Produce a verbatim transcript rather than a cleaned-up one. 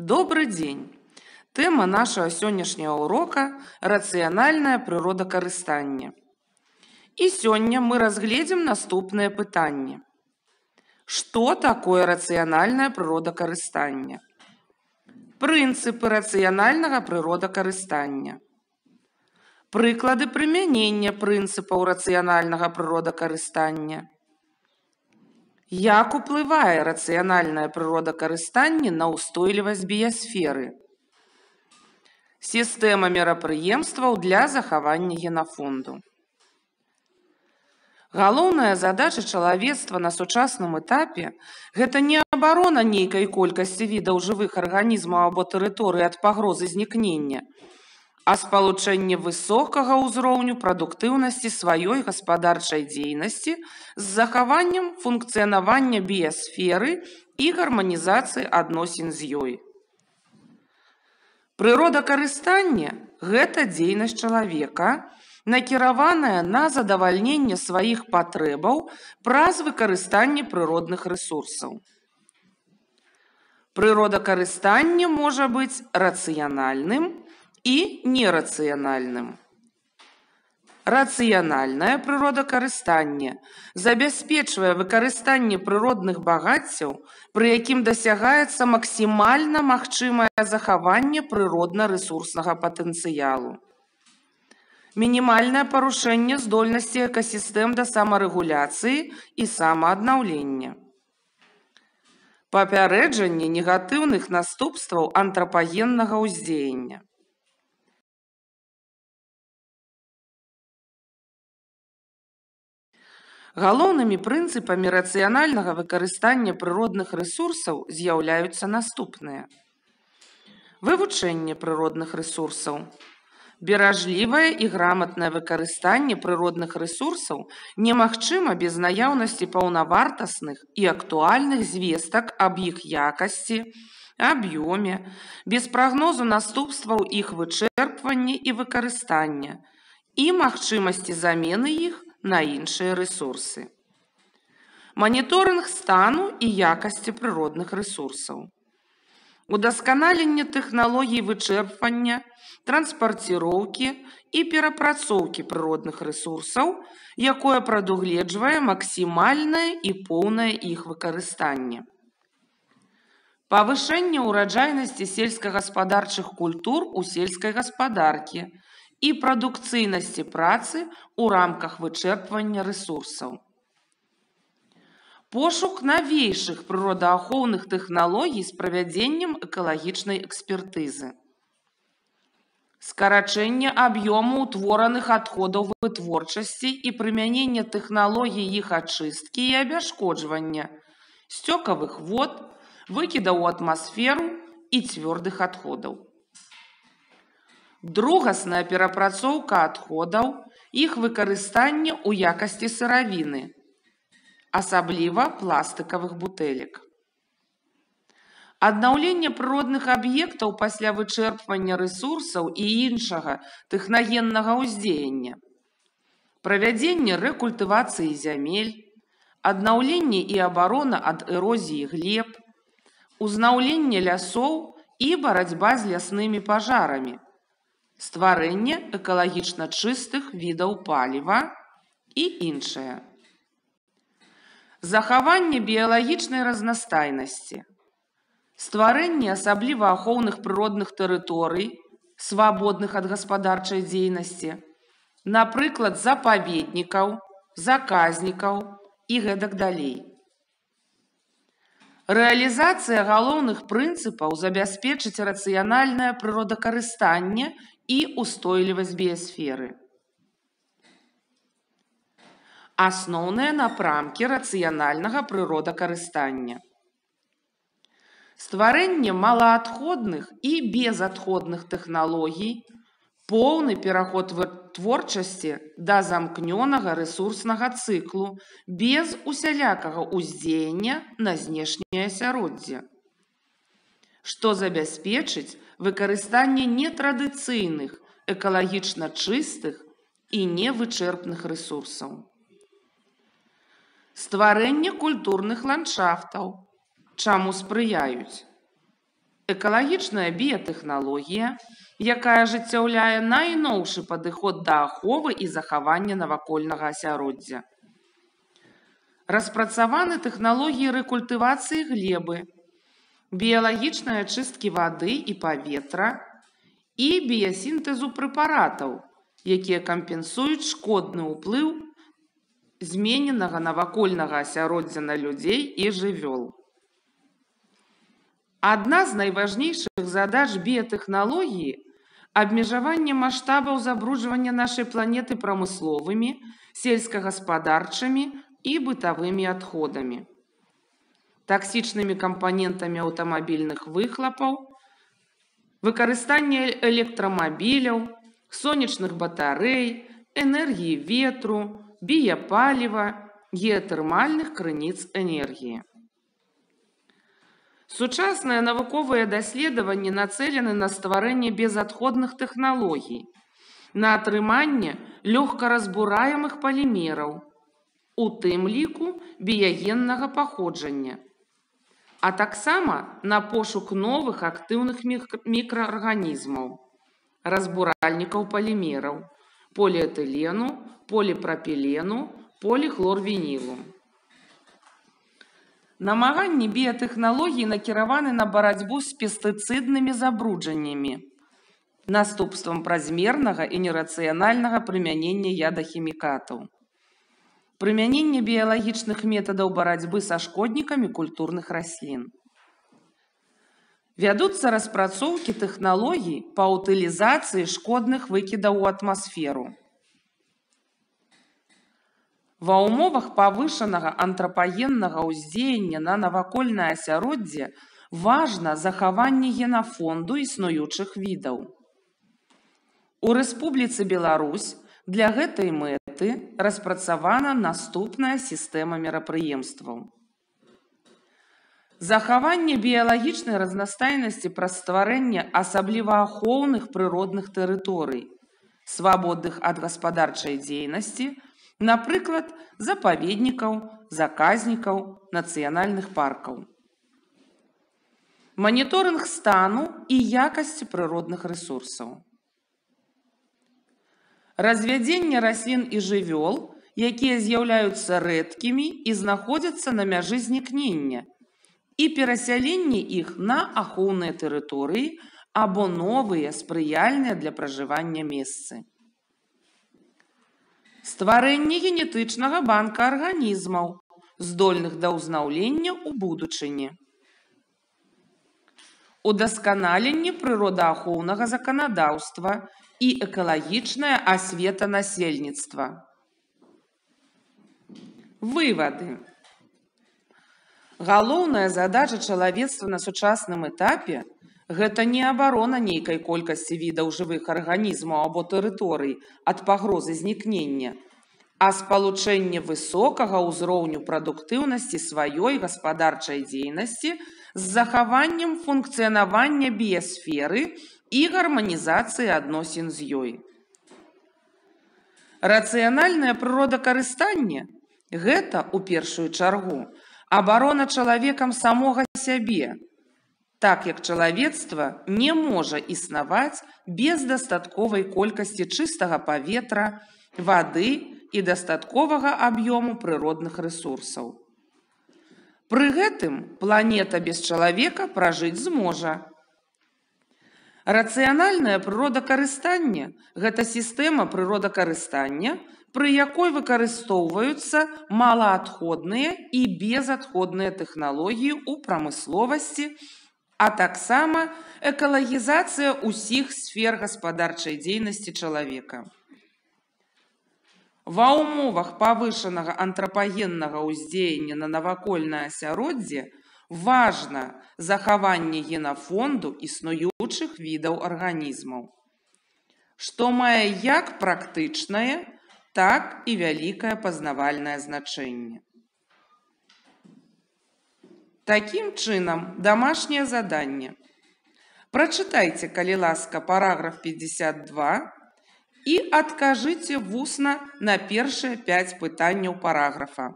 Добрый день! Тэма нашага сённяшняга урока рацыянальнае прыродакарыстанне. І сёння мы разгледзім наступныя пытанні. Што такое рацыянальнае прыродакарыстанне? Прынцыпы рацыянальнага прыродакарыстання. Прыклады прымянення прынцыпаў рацыянальнага прыродакарыстання. Як уплывае рацыянальнае прыродакарыстанне на ўстойлівасць біясферы? Сістэма мерапрыемстваў для захавання генафонду. Галоўная задача чалавецтва на сучасным этапе – гэта не абарона нейкай колькасці відаў жывых арганізмаў або тэрыторый ад пагрозы знікнення, а спалучэнне высокага ўзроўню прадуктыўнасці сваёй гаспадарчай дзейнасці з захаваннем функцыянавання біясферы і гарманізацыі адносін з ёй. Прыродакарыстанне – гэта дзейнасць чалавека, накіраваная на задавальненне сваіх патрэбаў праз выкарыстанне прыродных рэсурсаў. Прыродакарыстанне можа быць рацыянальным і нерацыянальным. Рацыянальнае прыродакарыстанне забяспечвае выкарыстанне прыродных багаццяў, пры якім дасягаецца максімальна магчымае захаванне прыродна-рэсурснага патэнцыялу. Мінімальнае парушэнне здольнасці экасістэм да самарэгуляцыі і самааднаўлення. Папярэджанне негатыўных наступстваў антрапагеннага ўздзеяння. Галоўнымі прынцыпамі рацыянальнага выкарыстання прыродных рэсурсаў з'яўляюцца наступныя. Вывучэнне прыродных рэсурсаў. Беражлівае і граматнае выкарыстанне прыродных рэсурсаў немагчыма без наяўнасці паўнавартасных і актуальных звестак аб іх якасці, аб'ёме, без прагнозу наступстваў іх вычэрпвання і выкарыстання і магчымасці замены іх на іншыя рэсурсы. Маніторынг стану і якасці прыродных рэсурсаў. Удасканаленне тэхналогій вычэрпвання, транспарціроўкі і перапрацоўкі прыродных рэсурсаў, якое прадугледжвае максімальнае і поўнае іх выкарыстанне. Павышэнне ўраджайнасці сельскагаспадарчых культур у сельскай гаспадаркі і прадукцыйнасці працы ў рамках вычэрпвання рэсурсаў. Пошук навейшых прыродаахоўных тэхналогій з правядзеннем экалагічнай экспертызы. Скарачэнне аб'ёму ўтвораных адходаў вытворчасці і прымянення тэхналогій іх ачысткі і абясшкоджвання, сцёкавых вод, выкідаў у атмасферу і цвёрдых адходаў. Другасная перапрацоўка адходаў, іх выкарыстанне ў якасці сыравіны, асабліва пластыкавых бутэлек. Аднаўленне прыродных аб'ектаў пасля вычэрпвання рэсурсаў і іншага тэхнагеннага ўздзеяння. Правядзенне рэкультывацыі зямель, аднаўленне і абарона ад эрозіі глеб, узнаўленне лясоў і барацьба з ляснымі пажарамі, стварэнне экалагічна чыстых відаў паліва і іншае. Захаванне біялагічнай разнастайнасці. Стварэнне асабліва ахоўных прыродных тэрыторый, свабодных ад гаспадарчай дзейнасці, напрыклад, запаведнікаў, заказнікаў і гэтак далей. Рэалізацыя галоўных прынцыпаў забяспечыць рацыянальнае прыродакарыстанне і ўстойлівасць біясферы. Асноўныя напрамкі рацыянальнага прыродакарыстання. Стварэнне малаадходных і безадходных тэхналогій, поўны пераход вытворчасці да замкнёнага рэсурснага цыклу без усялякага ўздзеяння на знешняе асяроддзе, што забяспечыць выкарыстанне нетрадыцыйных, экалагічна чыстых і невычэрпных рэсурсаў. Стварэнне культурных ландшафтаў, чаму спрыяюць Экалагічная біятэхналогія, якая ажыццяўляе найноўшы падыход да аховы і захавання навакольнага асяроддзя. Распрацаваны тэхналогіі рэкультывацыі глебы, біялагічнай ачысткі вады і паветра і біясінтэзу прэпаратаў, якія кампенсуюць шкодны ўплыў змененага навакольнага асяроддзя на людзей і жывёл. Адна з найважнейшых задач біятэхналогіі – абмежаванне маштабаў забруджвання нашай планеты прамысловымі, сельскагаспадарчымі і бытавымі адходамі, таксічнымі кампанентамі аўтамабільных выхлапаў, выкарыстанне электрамабіляў, сонечных батарэй, энергіі ветру, біяпаліва, геатэрмальных крыніц энергіі. Сучасныя навуковыя даследаванні нацэлены на стварэнне безадходных тэхналогій, на атрыманне лёгкаразбураемых палімераў, у тым ліку біягеннага паходжання, а таксама на пошук новых актыўных мікраарганізмаў, разбуральнікаў палімераў, поліэтылену, поліпрапілену, поліхлорвінілу. Намаганні біятэхналогій накіраваны на барацьбу з пестыцыднымі забруджаннямі, наступствам празмернага і нерацыянальнага прымянення ядахімікатаў, прымянення біялагічных метадаў барацьбы са шкоднікамі культурных раслін. Вядуцца распрацоўкі тэхналогій па ўтылізацыі шкодных выкідаў у атмасферу. Ва ўмовах павышанага антрапагеннага ўздзеяння на навакольнае асяроддзе важна захаванне генафонду існуючых відаў. У Рэспубліцы Беларусь для гэтай мэты распрацавана наступная сістэма мерапрыемстваў. Захаванне біялагічнай разнастайнасці праз стварэнне асабліва ахоўных прыродных тэрыторый, свабодных ад гаспадарчай дзейнасці, напрыклад, запаведнікаў, заказнікаў, нацыянальных паркаў. Маніторынг стану і якасці прыродных рэсурсаў. Развядзенне раслін і жывёл, якія з'яўляюцца рэдкімі і знаходзяцца на мяжы знікнення, і перасяленне іх на ахоўныя тэрыторыі або новыя спрыяльныя для пражывання месцы. Стварэнне генетычнага банка арганізмаў, здольных да ўзнаўлення ў будучыні. Удасканаленне прыродаахоўнага заканадаўства і экалагічная асвета насельніцтва. Вывады. Галоўная задача чалавецтва на сучасным этапе – гэта не абарона нейкай колькасці відаў жывых арганізмаў або тэрыторый ад пагрозы знікнення, а спалучэнне высокага ўзроўню прадуктыўнасці сваёй гаспадарчай дзейнасці з захаваннем функцыянавання біясферы і гарманізацыі адносін з ёй. Рацыянальнае прыродакарыстанне – гэта, у першую чаргу, абарона чалавекам самога сябе, так як чалавецтва не можа існаваць без дастатковай колькасці чыстага паветра, вады і дастатковага аб'ёму прыродных рэсурсаў. Пры гэтым планета без чалавека пражыць зможа. Рацыянальнае прыродакарыстанне – гэта сістэма прыродакарыстання, пры якой выкарыстоўваюцца малаадходныя і безадходныя тэхналогіі ў прамысловасці, а таксама экалагізацыя ўсіх сфер гаспадарчай дзейнасці чалавека. Ва ўмовах павышанага антрапагеннага ўздзеяння на навакольнае асяроддзе важна захаванне генафонду існуючых відаў арганізмаў, што мае як практычнае, так і вялікае пазнавальнае значэнне. Такім чынам, дамашняе заданне. Прачытайце, калі ласка, параграф пятьдесят два і адкажыце вусна на першыя пяць пытанняў параграфа.